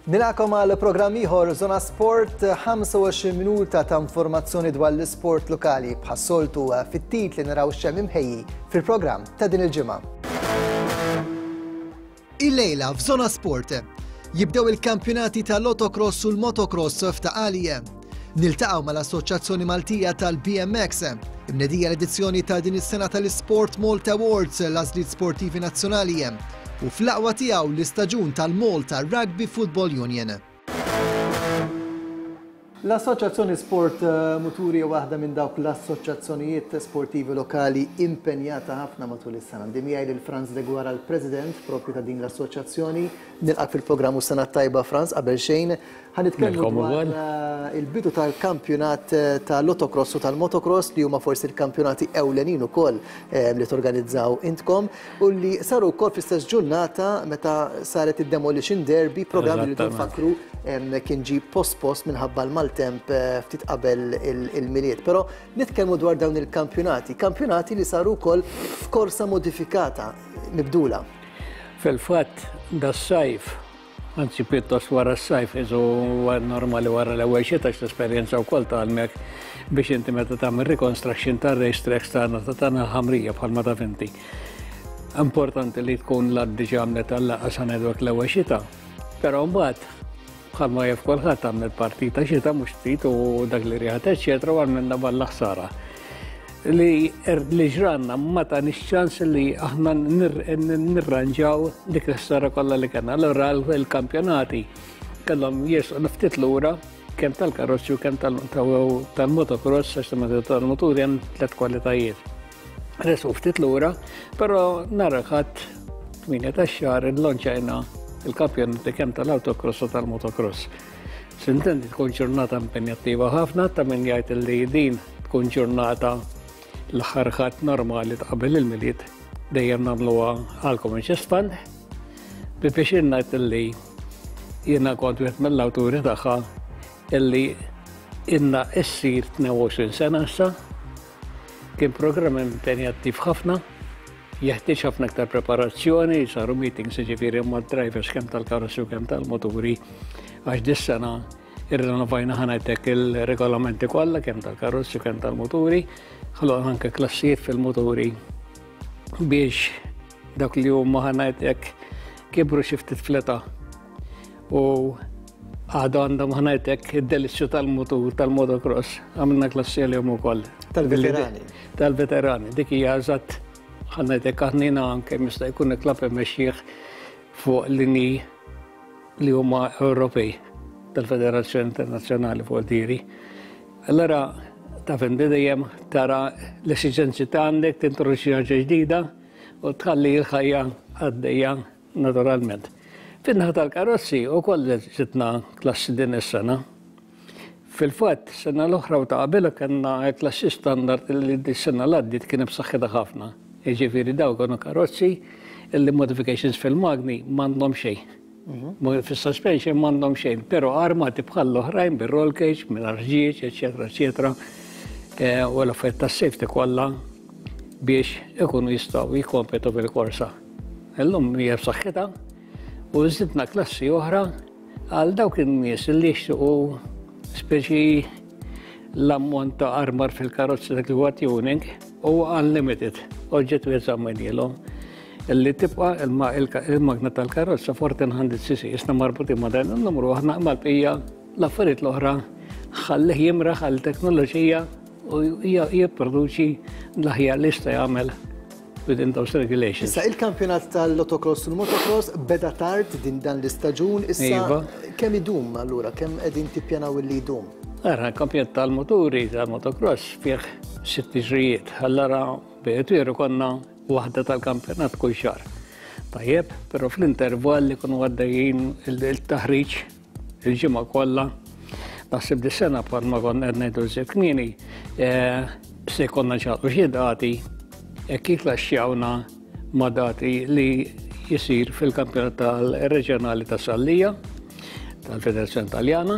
Nilqagħkom għal programm ieħor Zona Sport, 25 minuta ta' informazzjoni dwar l-isport lokali bħas-soltu fit-titli naraw x'hemm imħejji fil-programm ta' din il-ġimgħa. Illejla f'Zona Sport jibdew il-kampjonati tal-Autocross u l-Motocross f'Ta' Qali. Niltaqgħu mal-Assoċjazzjoni Maltija tal-BMX. Imnedija l-edizzjoni ta' din is-sena tal-Sport Malta Awards, l-għażliet sportivi nazzjonali. U fl-aqwa tiegħu l-istaġun tal-Malta Rugby Football Union. L-Assoċjazzjoni Sport Muturi hija waħda minn dawk l-assoċjazzjonijiet sportivi lokali impenjata ħafna matul is-sena. Għandi miegħi lil Frans Deguara, l-President propju ta' din l-assoċjazzjoni. Nilqak fil-programm u sena tajba Frans qabel xejn. Ħa nitkellmu dwar il-bidu tal-kampjonat tal-autocross u tal-motocross li huma forsi l-kampjonati ewlenin ukoll li torganizzaw intkom u li saru wkoll fl-istess ġurnata meta saret id-Demolition Derby, programm li nfakru kien ġi post-post minħabba l-maltemp ftit qabel il-Milied. Però nitkellmu dwar dawn il-kampjonati, kampjonati li saru wkoll f'korsa modifikata, mibdula. Fil-fatt, das-sajf, anzi pjuttost wara s-sajf, iżu normali wara l-ewwel xita l-esperjenza wkoll tgħallmek biex inti meta tagħmel reconstruction tar-race tracks tagħna ta' tagħna ħamrija bħalma taf inti. Importanti li tkun l-art diġà għamlet għall-laqgħa sa ngħidulek l-ewwel xita. Però mbagħad bħalma jaf kulħadd għamlet partita xita mhux ftit u dak li riħat eċċetera u għamilna balla ħsara. Li er, li ġranna ma tanix ċans li aħna nirranġaw dik l-ħsara kollha li kellna. Allura l-kampjonati kellhom jersqu ftit lura kemm tal-karozzi u kemm tal-motocross għax tal-moturi hemm tliet kwalitajiet. Resqu ftit lura, però nhar il-Ħadd 8 tax-xahar illonċajna il-kampjonati kemm tal-autocross u tal-motocross. Sintendi tkun ġurnata impenjattiva ħafna ta' min jgħid li din tkun ġurnata l-aħħar ħadd normali ta' qabel il-Milied dejjem nagħmluha għal Common Chest Fund. Bi pjaċir ngħid li jiena kont wieħed mill-awturi tagħha illi inna issir 22 sena issa. Kien programm impenjattiv ħafna, jeħtieġ ħafna aktar preparazzjoni, saru meetings jiġifieri mad-drivers kemm tal-karozzi u kemm tal-moturi għax dis-sena irrenovajna ħa ngħidlek il-regolamenti kollha kemm tal-karozzi u kemm tal-moturi, ħloqna anke klassijiet fil-moturi biex dawk li huma ħa ngħidlek kibru xi ftit fl-età u għadu għandhom ħa ngħidlek id-delizzju tal-mutur tal-motocross għamilna klassi għalihom ukoll. Tal-veterani. Tal-veterani, dik hija eżatt ħa ngħidlek aħnina anke jista' jkun il-klabb imexxih fuq linji li huma Ewropej tal-Federazzjoni Internazzjonali fuq diri. Allora taf inti dejjem tara l-esiġenzi ta' għandek tintroduċi ħaġa ġdida u tħalli l-ħajja għaddejja Naturalment. Fin-naħa tal-karozzi wkoll żidna klassi din is-sena. Fil-fatt, sena l-oħra u ta' qabilha kellna klassi standard li s-sena l-għaddiet kien b'saħħitha ħafna. Jiġifieri dawk kienu karozzi li modifications fil-magni m'għandhom xejn. Mhm. Fis-suspension m'għandhom xejn, però armati bħall-oħrajn bir-roll cage, mingħajr ħġieġ, eċetera, eċetera. Eh, u l-affarijiet tas-safety kollha biex ikunu jistgħu jikkompetu bil-korsa. Illum hija b'saħħitha u żidna klassi oħra għal dawk in-nies li jixtiequ speċi l-ammont ta' armar fil-karozzi dak li huwa tuning huwa unlimited, oġġett wieħed żammejnielhom illi tibqa' il-magna tal-karozza 1400 cc, isna marbutin ma' dan il-numru aħna mal-bqija l-affarijiet l-oħra ħallih jimraħ għal teknoloġija u jipproduċi l-aħjar li jista' jagħmel within those regulations. Issa il-kampjonat tal-autocross u l-motocross beda tard din dan l-istaġun, issa iva. kemm idum allura, kemm qegħdin tippjanaw li jdum? Ara, kampjonat tal-moturi tal-motocross fih sitt tiġrijiet, allura bejt konna waħda tal-kampjonat kull xahar. Tajjeb, però fl-intervall li kunu għaddejjin il-taħriġ il-ġimgħa kollha. Naħseb di sena bħalma konna qed ngħidu żied kmieni, eh, se jkollna ċaqlu xi dati hekk jiklaxxjawna ma' dati li jisir fil-kampjonat tal-reġjonali ta' Sallija tal-Federazzjoni Taljana.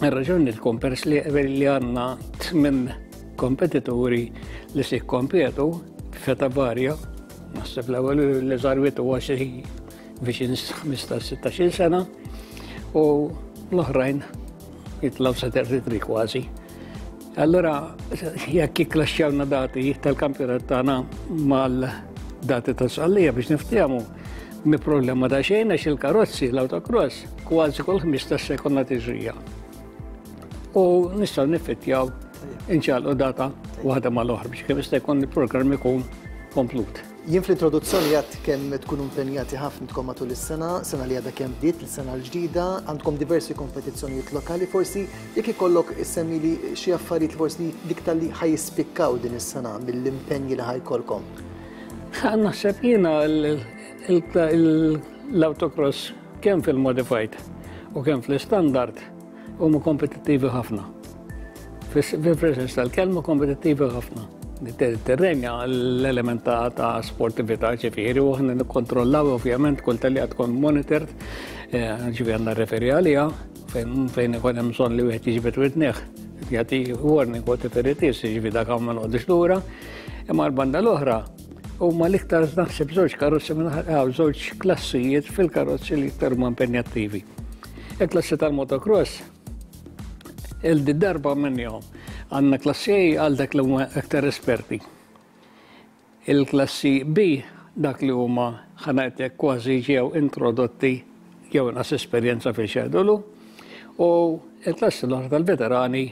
Ir-raġuni tkun peress li għandna tmien kompetituri li se jikkompetu f'età varja, naħseb l-ewwel li żarwiet huwa xi viċin 15-16 sena. u l-oħrajn jitilgħu sa 33 kważi. Allura jekk jikklaxxjawna dati tal-kampjonat tagħna mal-dati ta' Sqallija biex niftehmu mi problema ta' xejn għax il-karozzi l-autocross kważi kull 15 sekonda tiġrija. U nistgħu nifittjaw inċalqu data waħda mal-oħra biex kemm jista' jkun il-programm ikun komplut. Jien fl-introduzzjoni għedt kemm tkunu impenjati ħafna intkom matul is-sena, sena li għadha kemm bdiet, l-sena l-ġdida, għandkom diversi kompetizzjonijiet lokali, forsi jekk ikollok issemmili xi affarijiet li forsi l-iktar li ħa jispikkaw din is-sena mill-impenji li ħa jkollkom. Naħseb jiena l-autocross kemm fil-modified u kemm fl-standard huma kompetittivi ħafna. Fil-sens tal-kelma kompetittivi ħafna. Terrenja l-element ta' sportività ġifieri u aħna nikkontrollaw ovvjament kull tellieqa tkun monitored, eh, ġifieri għandna referi għaliha fejn ikun hemm bżonn li wieħed jiġbed widneh jagħti warning whatever it is, ġifieri dak ma noqgħodux lura. Imma l-banda l-oħra huma l-iktar naħseb żewġ karozzi minn żewġ klassijiet fil-karozzi li iktar huma impenjattivi. Il-klassi tal-motocross, il-darba minnhom għandna klassi A għal dak li huma aktar esperti. Il-klassi B dak li huma ħanajtek kważi ġew introdotti jew inqas esperjenza fil-xedulu u il-klassi l-oħra tal-veterani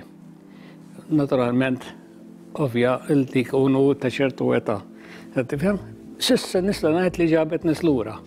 naturalment ovvja li jkunu ta' ċertu età. Tifhem? S'issa nista' ngħid li ġabet nies lura.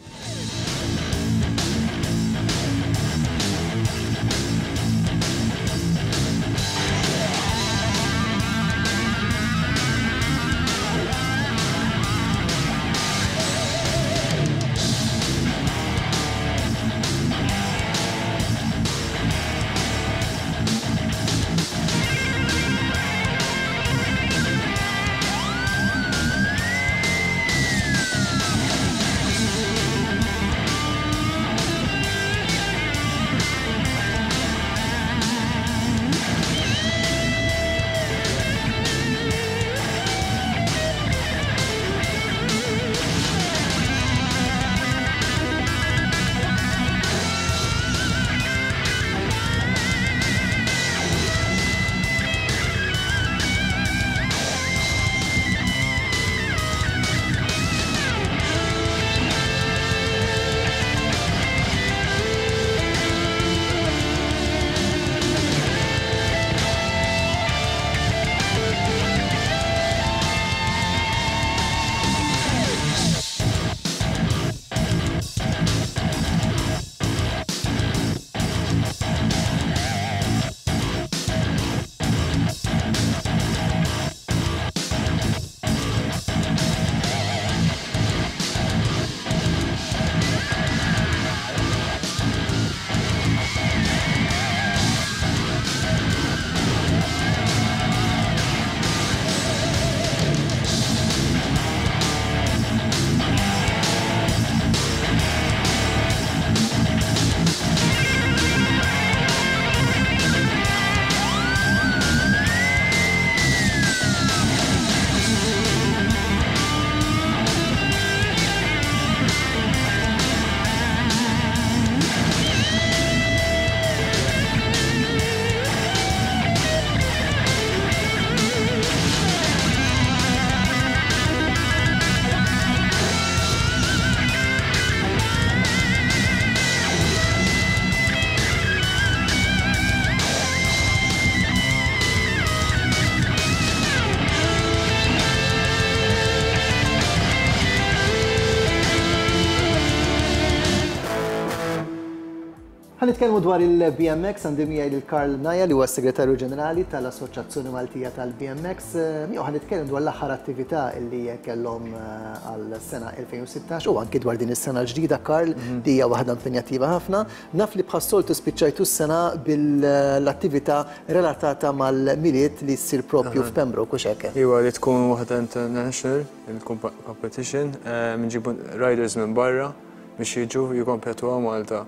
Ħa nitkellmu dwar il-BMX għandi miegħi lil Karl Naja li huwa s-Segretarju Ġenerali tal-Assoċjazzjoni Maltija tal-BMX. Miegħu ħa nitkellem dwar l-aħħar attività li kellhom għal sena 2016 u anki dwar din is-sena l-ġdida Karl mhm. li hija waħda impenjattiva ħafna. Naf li bħas-soltu spiċċajtu s-sena bil-attività relatata mal-Milied li ssir propju f'Pembroke u hekk. Iwa li tkun waħda international il-competition, eh, nġibu riders minn barra biex jiġu jikompetu għal Malta.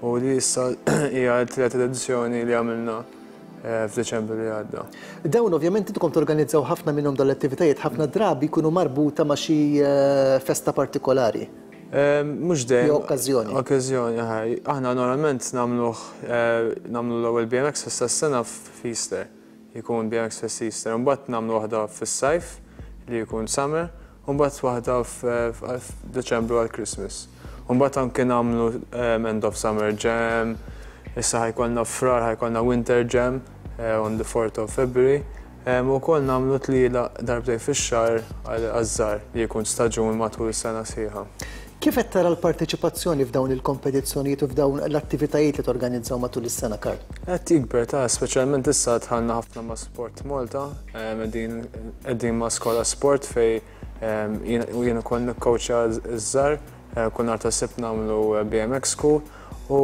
U li issa hija t-tielet edizzjoni li għamilna eh, f'Deċembru li għadda. Dawn ovvjament intkom torganizzaw ħafna minnhom dawn l-attivitajiet ħafna drabi jkunu marbuta ma' xi eh, festa partikolari. Mhux dejjem. Jew okkażjoni. Okkażjoni, aħna normalment nagħmluh nagħmlu l-ewwel BMX Fest tas-sena f'Easter. Jkun BMX Fest Easter. Imbagħad nagħmlu waħda fis-sajf li jkun summer, u mbagħad waħda f'Deċembru għal Christmas. U mbagħad anke nagħmlu end of summer jam, issa ħa jkollna f'Frar ħa jkollna winter jam on the 4th of February. U wkoll nagħmlu tlielaq darbtejn fix-xahar għaż-żgħar li jkun staġun matul is-sena sħiħa. Kif qed tara l-parteċipazzjoni f'dawn il-kompetizzjonijiet u f'dawn l-attivitajiet li torganizzaw matul is-sena, Karl? Qed jikber ta' speċjalment issa dħalna ħafna ma' Sport Malta, qegħdin qegħdin ma' Skola Sport fejn jien ukoll nikkowċja ż-żgħar, kull nhar ta' Sibt nagħmlu BMX School u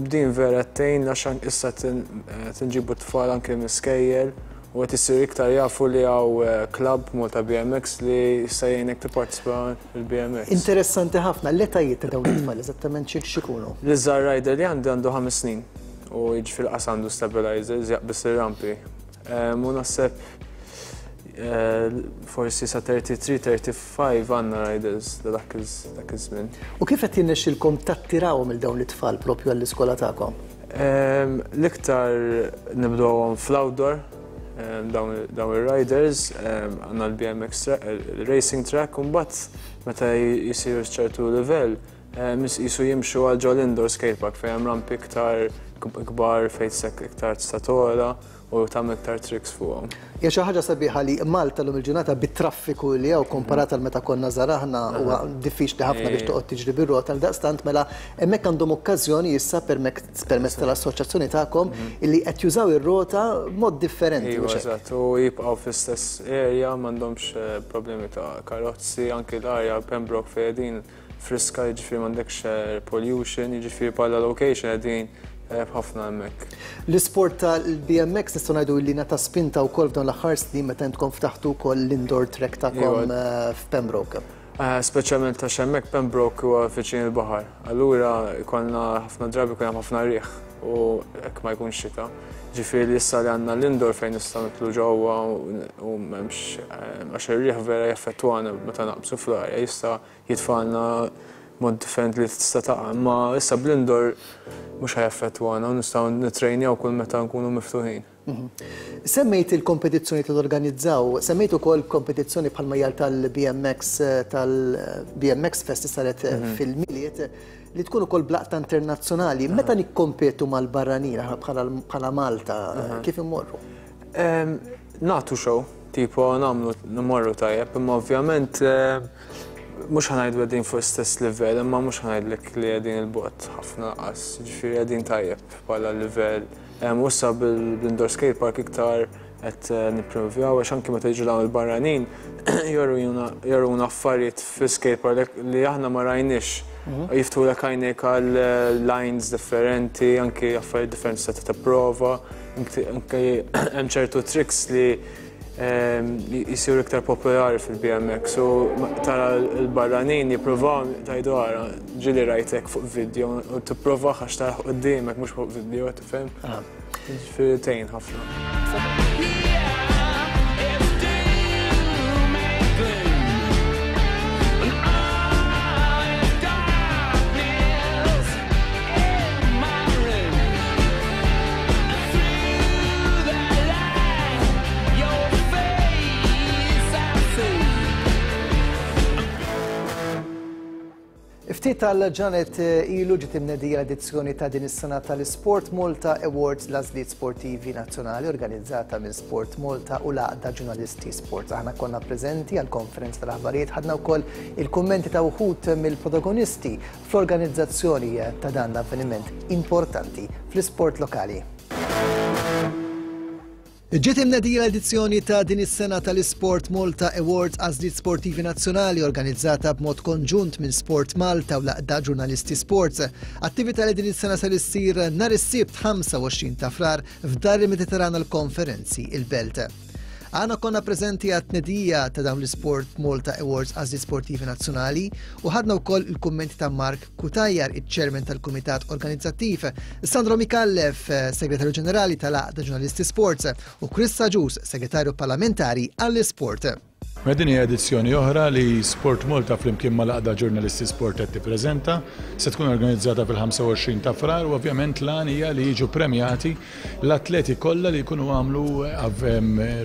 din vera qed tgħin għax issa qed inġibu t-tfal anke mill-iskejjel u qed isiru iktar jafu li hawn club Malta BMX li jista' jgħinek tipparteċipa fil-BMX. Interessanti ħafna, l-etajiet ta' dawn it-tfal eżattament x'ikunu? L-iżgħar rider li għandi għandu 5 snin u jiġifieri qas għandu stabilizers jaqbeż ir-rampi. U naħseb forsi sa 33, 35 għandna riders dak iż-żmien. U kif qed jirnexxilkom tattirawhom lil dawn it-tfal propju għall-iskola tagħkom? L-iktar nibdewhom fl-outdoor dawn ir-riders, għandna l-BMX racing track u mbagħad meta jisiru ċertu livell jisu jimxu għal ġol indoor skate park fejn hemm rampi iktar kbar fejn iktar tista' togħla u tagħmel iktar tricks fuqhom. Hija xi ħaġa sabiħa li Malta llum il-ġurnata bit-traffiku li hawn komparat għal meta konna żgħar aħna huwa diffiċli ħafna biex toqgħod tiġri bir-rota għal daqstant mela hemmhekk għandhom okkażjoni issa permezz tal-assoċjazzjoni tagħkom illi qed jużaw ir-rota b'mod differenti. Iva, eżatt, u jibqgħu fl-istess area m'għandhomx problemi ta' karozzi, anki l-arja Pembroke fejn qegħdin friska, jiġifieri m'għandekx air pollution, jiġifieri bħala location qegħdin ħafna hemmhekk. L-isport tal-BMX nistgħu ngħidu li ngħata spinta wkoll f'dawn l-aħħar snin meta intkom ftaħtu wkoll l-indoor track tagħkom f'Pembroke. Speċjalment għax hemmhekk Pembroke huwa viċin il-baħar. Allura jkollna ħafna drabi jkun hemm ħafna riħ u hekk ma jkunx xita. Ġifieri li issa li għandna l-indoor fejn nistgħu nidħlu ġewwa u m'hemmx għax ir-riħ vera jaffettwana meta naqbżu fl-arja jista' jitfagħlna mod differenti li tista' taqa', imma issa bl-indoor mhux ħa jaffettwana u nistgħu nittrejnjaw kull meta nkunu miftuħin. Semmejt il-kompetizzjonijiet li torganizzaw, semmejt ukoll kompetizzjoni bħalma hija tal-BMX tal-BMX Fest li saret fil-Milied li tkun ukoll b'laqta internazzjonali. Meta nikkompetu mal-barranin aħna bħala Malta, kif immorru? Nagħtu show, tipo nagħmlu nmorru tajjeb, imma ovvjament mhux ħa ngħidu qegħdin fuq istess livell, imma mhux ħa ngħidlek li qegħdin il-bogħod ħafna lanqas, jiġifieri qegħdin tajjeb bħala livell. U issa bil-indoor skate park iktar qed nipprovjaw għax anki meta jiġu dawn il-barranin joruna affarijiet fil-skate park li aħna ma rajniex. Jiftħulek għajnejk għal lines differenti, anki affarijiet differenti se tipprova, anki hemm ċertu tricks li jisiru iktar popolari fil-BMX u tara l-barranin jippruvaw tgħidu ara ġieli rajtek fuq video u tipprova għax tara qudiemek mhux fuq video tifhem. Ġifieri tgħin ħafna. Ftit tal-ġranet ilu ġiet imnedija l-edizzjoni ta' din is-sena tal-Sport Malta Awards l-għażliet sportivi nazzjonali organizzata minn Sport Malta u l-Għaqda Ġurnalisti Sports. Aħna konna preżenti għall-konferenza tal-aħbarijiet, ħadna wkoll il-kummenti ta' wħud mill-protagonisti fl-organizzazzjoni ta' dan l-avveniment importanti fl-isport lokali. Ġiet imnedija l-edizzjoni ta' din is-sena tal-Isport Malta Awards Għażliet Sportivi Nazzjonali organizzata b'mod konġunt minn Sport Malta u l-Għaqda Ġurnalisti Sports. Attività li din is-sena ser issir nhar is-Sibt 25 ta' Frar f'Dar il-Mediterran għall-Konferenzi il-Belt. Aħna konna preżenti għat-tnedija ta' dawn l-Isport Malta Awards Għażliet Sportivi Nazzjonali u ħadna wkoll il-kummenti ta' Mark Cutajar, iċ-Chairman tal-Kumitat Organizzattiv, Sandro Micallef, Segretarju Ġenerali tal-Għaqda Ġurnalisti Sports, u Chris Agius, Segretarju Parlamentari għall-Isport. Mela din hija edizzjoni oħra li Sport Malta flimkien mal-Għaqda Ġurnalisti Sport qed tippreżenta. Se tkun organizzata fil-25 ta' Frar u ovvjament l-għan hija li jiġu premjati l-atleti kollha li jkunu għamlu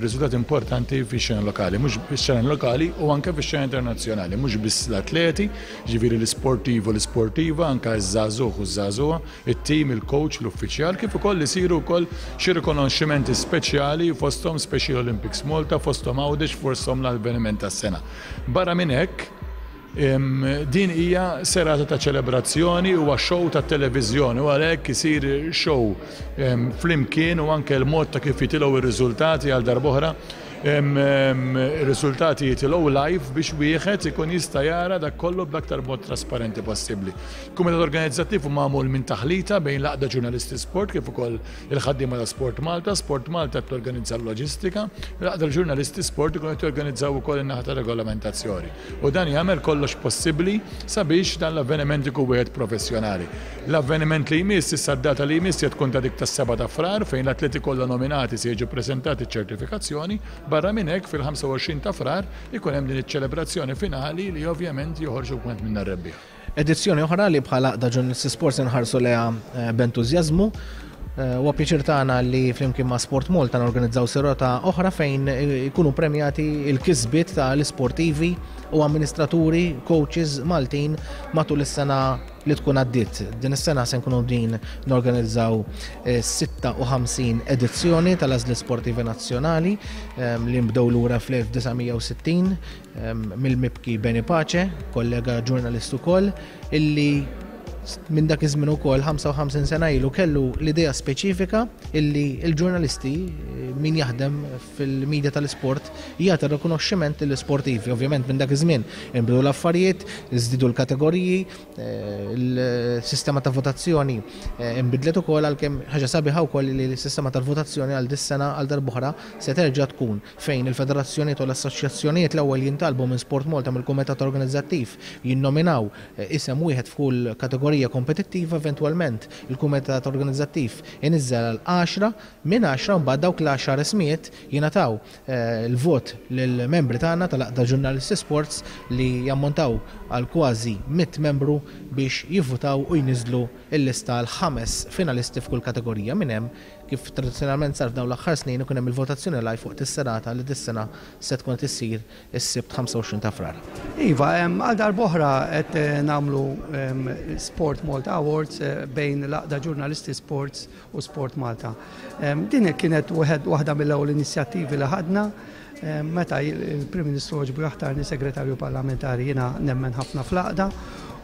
riżultati importanti fix-xena lokali, mhux fix-xena lokali u anke fix-xena internazzjonali, mhux biss l-atleti, ġifieri l-isportiv u l-isportiva, anke ż-żagħżugħ u ż-żagħżugħa, it-tim, il-coach, l-uffiċjal, kif ukoll isiru wkoll xi rikonoxximenti speċjali fosthom Special Olympics Malta, fosthom Għawdex, fosthom l-avveniment tas-sena. Barra minn hekk, din hija serata ta' ċelebrazzjoni, huwa show tat-televiżjoni u għalhekk isir show flimkien u anke l-mod ta' kif jitilgħu r-riżultati għal darb'oħra Ir-riżultati jitilgħu live biex wieħed ikun jista' jara dak kollu bl-aktar mod trasparenti possibbli. Kumitat organizzattiv hu magħmul minn taħlita bejn l-Għaqda Ġurnalisti Sport kif ukoll il-ħaddiema ta' Sport Malta. Sport Malta qed torganizza l-loġistika, l-Għaqda Ġurnalisti Sport ikunu qed jorganizzaw ukoll in-naħa ta' regolamentazzjoni. U dan jagħmel kollox possibbli sabiex dan l-avveniment ikun wieħed professjonali. L-avveniment li jmiss, issa d-data li jmiss se tkun ta' dik tas-7 ta' Frar fejn l-atleti kollha nominati se jiġu ppreżentati ċ-ċertifikazzjoni. Barra minn hekk, fil-25 ta' Frar ikun hemm din iċ-ċelebrazzjoni finali li ovvjament joħorġu wieħed minna r-rebbieħ. Edizzjoni oħra li bħala Għaqda Ġurnalisti Sports inħarsu lejha b'entużjażmu. Huwa pjaċir tagħna li flimkien ma' Sport Malta norganizzaw serata oħra fejn ikunu premjati l-kisbiet tal-isportivi u amministraturi, coaches Maltin matul is-sena li tkun għaddiet. Din is-sena se nkunu din norganizzaw 56 edizzjoni tal-Għażliet Sportivi Nazzjonali li nbdew lura fl-1960 mill-mibki Benny Pace, kollega ġurnalist ukoll, illi minn dak iż-żmien ukoll 55 sena ilu kellu l-idea speċifika illi l-ġurnalisti min jaħdem fil-media tal-isport jagħti rikonoxximent lill-isportivi. Ovvjament minn dak iż-żmien inbidlu l-affarijiet, żdiedu l-kategoriji, il-sistema ta' votazzjoni nbidlet ukoll għalkemm ħaġa sabiħa wkoll li l-sistema tal-votazzjoni għal dis-sena għal darb'oħra se terġa' tkun fejn il-federazzjonijiet u l-assoċjazzjonijiet l-ewwel jintalbu minn Sport Malta mill-kumitat organizzattiv jinnominaw isem wieħed f'kull kategorija kompetittiva eventwalment il-kumitat organizzattiv iniżżel għal għaxra Minn għaxra mbagħad dawk l-għaxar ismijiet jingħataw l-vot lill-membri tagħna tal-Għaqda Ġurnalisti Sports li jammontaw għal kważi 100 membru biex jivvutaw u jniżżlu l-lista għal ħames finalisti f'kull kategorija. Minn hemm, kif tradizzjonalment sar f'dawn l-aħħar snin, ikun hemm il-votazzjoni live waqt is-serata li dis-sena se tkun qed issir is-Sibt 25 ta' Frar. Iva, għal darb'oħra qed nagħmlu Sport Malta Awards bejn l-Għaqda Ġurnalisti Sports u Sport Malta. Din kienet waħda mill-ewwel inizjattivi li ħadna meta il-Prim Ministru għoġbu jaħtarni Segretarju Parlamentari. Jiena nemmen ħafna fl-għaqda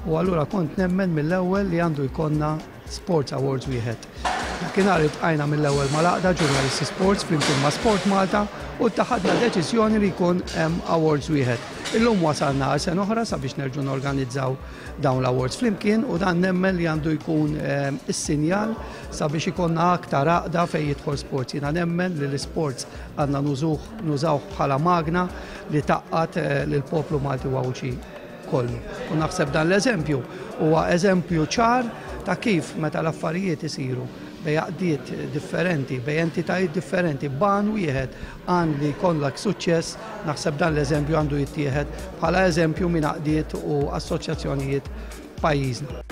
u allura kont nemmen mill-ewwel li għandu jkollna Sports Awards wieħed. Dakinhar iltqajna mill-ewwel mal-għaqda Ġurnalisti Sports flimkien ma' Sport Malta u ttaħadna deċiżjoni li jkun hemm awards wieħed. Illum wasalna għal sena oħra sabiex nerġgħu norganizzaw dawn l-awards flimkien u dan nemmen li għandu jkun is-sinjal sabiex ikollna aktar għaqda fejn jidħol sports. Jiena nemmen li l-isports għandna nużuh nużawh bħala magna li tgħaqqad lill-poplu Malti u Għawdxi kollu. U naħseb dan l-eżempju huwa eżempju ċar ta' kif meta l-affarijiet isiru bejn għaqdiet differenti, bejn entitajiet differenti, b'għan wieħed, għan li jkollok suċċess, naħseb dan l-eżempju għandu jittieħed bħala eżempju minn għaqdiet u assoċjazzjonijiet f'pajjiżna.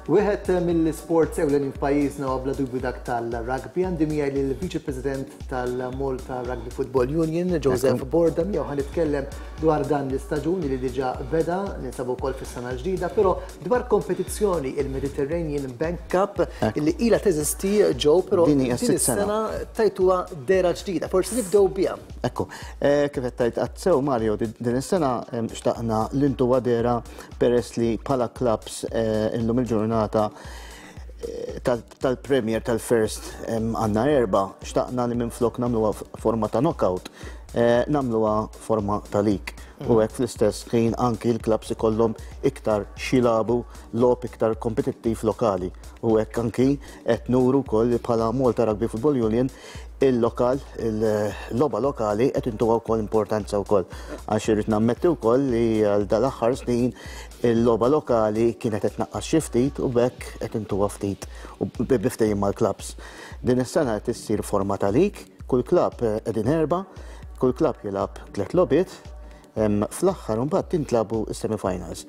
Wieħed mill-isports ewlenin f'pajjiżna huwa bla dubju dak tal-rugby. Għandi miegħi lill-Viċi President tal-Malta Rugby Football Union, Joseph Borda, miegħu ħa nitkellem dwar dan l-istaġun li diġà beda, ninsabu wkoll fis-sena l-ġdida, però dwar kompetizzjoni il-Mediterranean Bank Cup li ilha teżisti ġew, però din is-sena tajtuha dehra ġdida. Forsi nibdew biha. Ekku, kif qed tgħid qatt sew Mario, din is-sena xtaqna li ntuha dehra peress li bħala clubs illum il-ġurnata tal-Premier tal-First għandna erbgħa, xtaqna li minflok nagħmluha forma ta' knockout, nagħmluha forma ta' league. U hekk fl-istess ħin anki l-clubs ikollhom iktar x'jilagħbu logħob iktar kompetittiv lokali. U hekk anki qed nuru wkoll li bħala Malta Rugby Football Union il-lokal, il-logħba lokali qed intuha wkoll importanza wkoll. Għax irrid nammetti wkoll li għal dal-aħħar snin il-logħba lokali kienet qed tnaqqas xi ftit u b'hekk qed intuha ftit u bi ftehim mal-clubs. Din is-sena qed issir forma ta' league, kull club qegħdin erbgħa, Kull klabb jilgħab tliet logħbiet, fl-aħħar imbagħad tintlagħbu s-semifinals.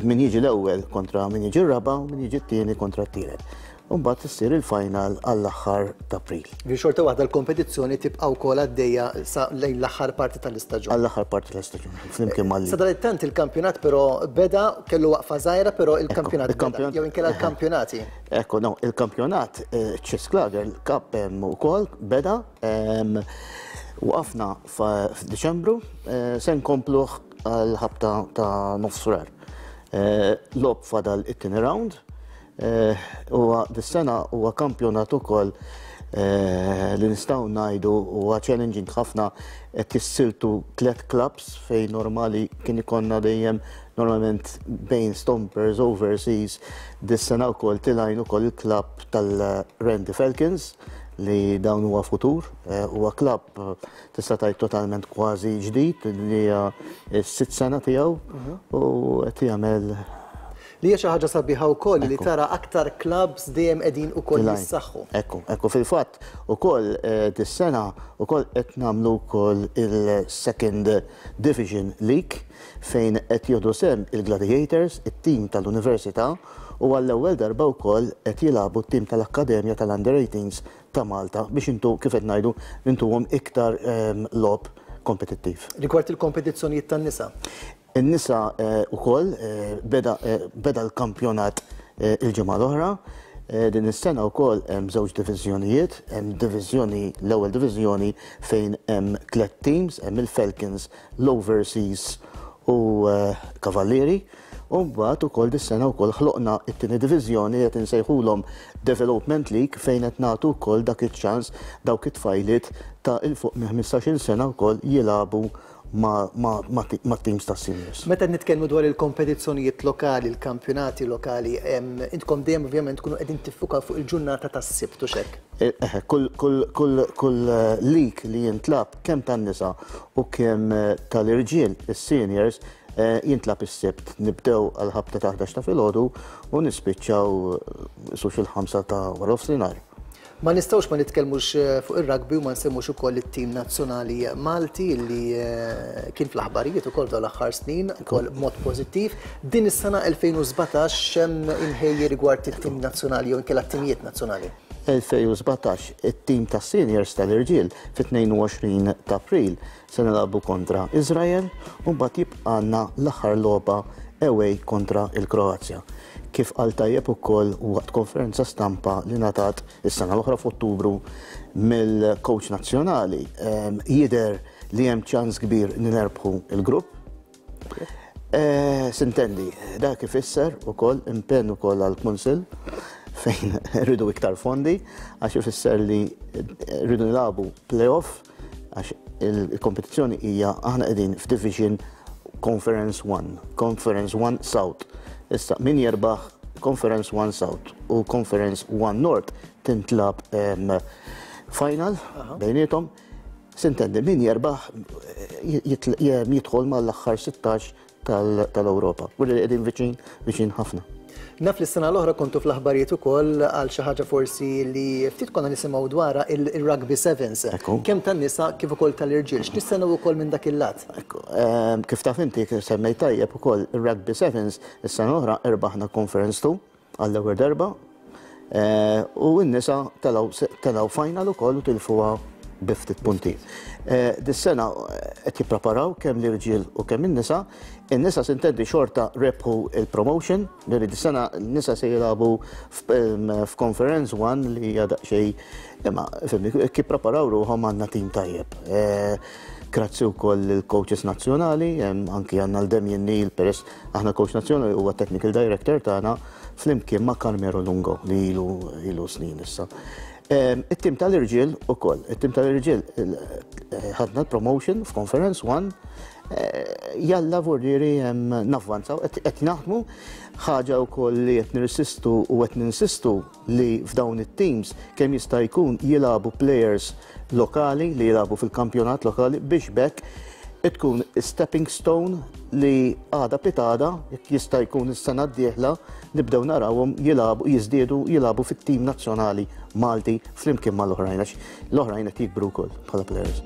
Min jiġi l-ewwel kontra min jiġi r-raba' u min jiġi t-tieni kontra t-tielet. U mbagħad issir il-final għall-aħħar t'April. Ġifieri xorta waħda l-kompetizzjoni tibqa' wkoll għaddejja sa lejn l-aħħar parti tal-istaġun. Għall-aħħar parti tal-istaġun, flimkien mal Sadanittant il-kampjonat però beda, kellu waqfa żgħira però il-kampjonat beda, jew inkella l-kampjonati. Ekku, no, il-kampjonat Chess Lager Cup ukoll beda, waqafna f'Diċembru, se nkompluh għall-ħabta ta' nofs Frar. Logħob fadal it-tieni round. Huwa dis-sena huwa kampjonat ukoll li nistgħu ngħidu huwa challenging ħafna, qed jissiltu tliet clubs fejn normali kien ikollna dejjem normalment bejn Stompers Overseas, dis-sena wkoll tilgħin ukoll il-klabb tal-Randy Falcons li dawn huwa futur, huwa klabb tista' tgħid totalment kważi ġdid li hija s-sitt sena tiegħu u qed jagħmel Li hija xi ħaġa sabiħa wkoll li tara aktar clubs dejjem qegħdin ukoll jissaħħu. Ekku, ekku fil-fatt ukoll dis-sena ukoll qed nagħmlu wkoll il-Second Division League fejn qed jieħdu sehem il-Gladiators, it-tim tal-Università u għall-ewwel darba wkoll qed jilagħbu t-tim tal-Akkademja tal-Under 18s ta' Malta biex intu kif qed ngħidu intuhom iktar logħob kompetittiv. Rigward il-kompetizzjonijiet tan-nisa? In-nisa wkoll beda beda l-kampjonat il-ġimgħa l-oħra. Din is-sena wkoll hemm żewġ diviżjonijiet, hemm diviżjoni l-ewwel diviżjoni fejn hemm tliet teams, hemm il-Falcons, l-Overseas u Kavallieri. U mbagħad ukoll dis-sena wkoll ħloqna t-tieni diviżjoni li qed insejħulhom Development League fejn qed nagħtu wkoll dak iċ-ċans dawk it-tfajliet ta' 'il fuq minn 15-il sena wkoll jilagħbu mat-teams tas-seniors. Meta qed nitkellmu dwar il-kompetizzjonijiet lokali, il-kampjonati lokali, intkom dejjem ovvjament tkunu qegħdin tiffukaw fuq il-ġurnata tas-Sibt, hux hekk? Eħe, kull league li jintlagħab kemm tan-nisa u kemm tal-irġiel, is-seniors, jintlagħab is-Sibt. Nibdew għall-ħabta ta' 11 ta' filgħodu u nispiċċaw qisu xil-ħamsa ta' waranofsinhar. Ma nistgħux ma nitkellmux fuq ir-rugby u ma nsemmux ukoll it-tim nazzjonali Malti li kien fl-aħbarijiet ukoll f'dawn l-aħħar snin, ukoll b'mod pożittiv. Din is-sena 2017 x'hemm imħejji rigward it-tim nazzjonali jew inkella t-timijiet nazzjonali? 2017 it-tim tas-seniors tal-irġiel fit-22 ta' April se nilagħbu kontra Iżrael u mbagħad jibqgħalna l-aħħar logħba away kontra l-Kroazja. Kif qal tajjeb ukoll waqt konferenza stampa li ngħatat is-sena l-oħra f'Ottubru mill-coach nazzjonali, jidher li hemm ċans kbir li nerbħu l-grupp. Sintendi, dak ifisser ukoll impenn ukoll għall-Kunsill fejn rridu iktar fondi għax ifisser li rridu nilagħbu play-off għax il-kompetizzjoni hija aħna qegħdin f'Division Conference 1, Conference 1 South. Issa min jerbaħ Conference 1 South u Conference 1 North tintlab final bejniethom. Sintendi min jerbaħ jidħol mal-aħħar 16 tal-Ewropa. U li qegħdin viċin viċin ħafna. Naf li s-sena l-oħra kontu fl-aħbarijiet ukoll għal xi ħaġa forsi li ftit konna nisimgħu dwarha il-Rugby Sevens. Kemm tan-nisa kif ukoll tal-irġiel. X'nistennew ukoll minn dak il-lat? Kif taf inti kif semmejt tajjeb ukoll ir-Rugby Sevens is-sena l-oħra irbaħna Conference 2 għall-ewwel darba u n-nisa telgħu final ukoll u tilfuha bi ftit punti. Dis-sena qed jippreparaw kemm l-irġiel u kemm in-nisa. In-nisa sintendi xorta rebħu il-promotion, li dis-sena n-nisa se jilagħbu f'Conference 1 li hija daqsxejn imma fimni kif preparaw ruħhom għandna tim tajjeb. Grazzi wkoll il-coaches nazzjonali, anki għandna l-Damien Neil peress aħna coach nazzjonali huwa technical director tagħna flimkien ma' Carmelo Lungo li ilu ilu snin issa. It-tim tal-irġiel ukoll, it-tim tal-irġiel ħadna l-promotion f'Conference 1, jalla vordieri navvanzaw, qed naħdmu ħaġa wkoll li qed nirsistu u qed ninsistu li f'dawn it-teams kemm jista' jkun jilagħbu players lokali li jilagħbu fil-kampjonat lokali biex b'hekk tkun stepping stone li għada pitgħada, jekk jista' jkun is-sena d-dieħla, nibdew narawhom jilagħbu, jiżdiedu jilagħbu fit-tim nazzjonali Malti flimkien mal-oħrajn għax l-oħrajn qed jikbru wkoll bħala players.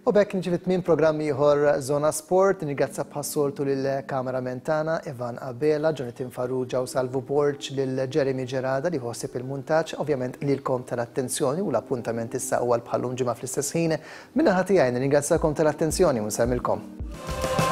U b'hekk niġi fi tmiem programm ieħor Zona Sport. Nirringrazzja bħas-soltu lill-cameraman tagħna Ivan Abela, Jonathan Farrugia u Salvu Borg, lil Jeremy Gerada li ħossib il-muntaġġ, ovvjament lilkom tal-attenzjoni u l-appuntament issa huwa bħal-lum ġimgħa fl-istess ħin. Min-naħa tiegħi nirringrazzakom tal-attenzjoni u nsellmilkom.